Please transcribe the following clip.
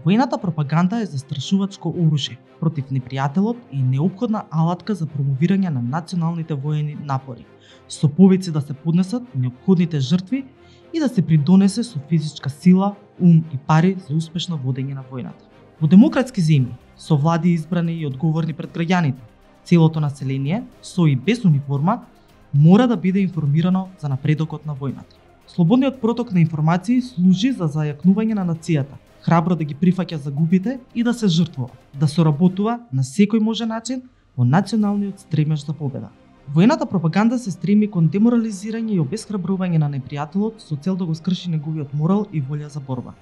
Воената пропаганда е застрашувачко оружје против непријателот и неопходна алатка за промовирање на националните воени напори, со повици да се поднесат неопходните жртви и да се придонесе со физичка сила, ум и пари за успешно водење на војната. Во демократски земји, со влади избрани и одговорни пред граѓаните, целото население, со и без униформа, мора да биде информирано за напредокот на војната. Слободниот проток на информации служи за зајакнување на нацијата, храбро да ги прифаќа загубите и да се жртвува, да соработува на секој можен начин во националниот стремеж за победа. Воената пропаганда се стреми кон деморализирање и обесхрабрување на непријателот со цел да го скрши неговиот морал и волја за борба.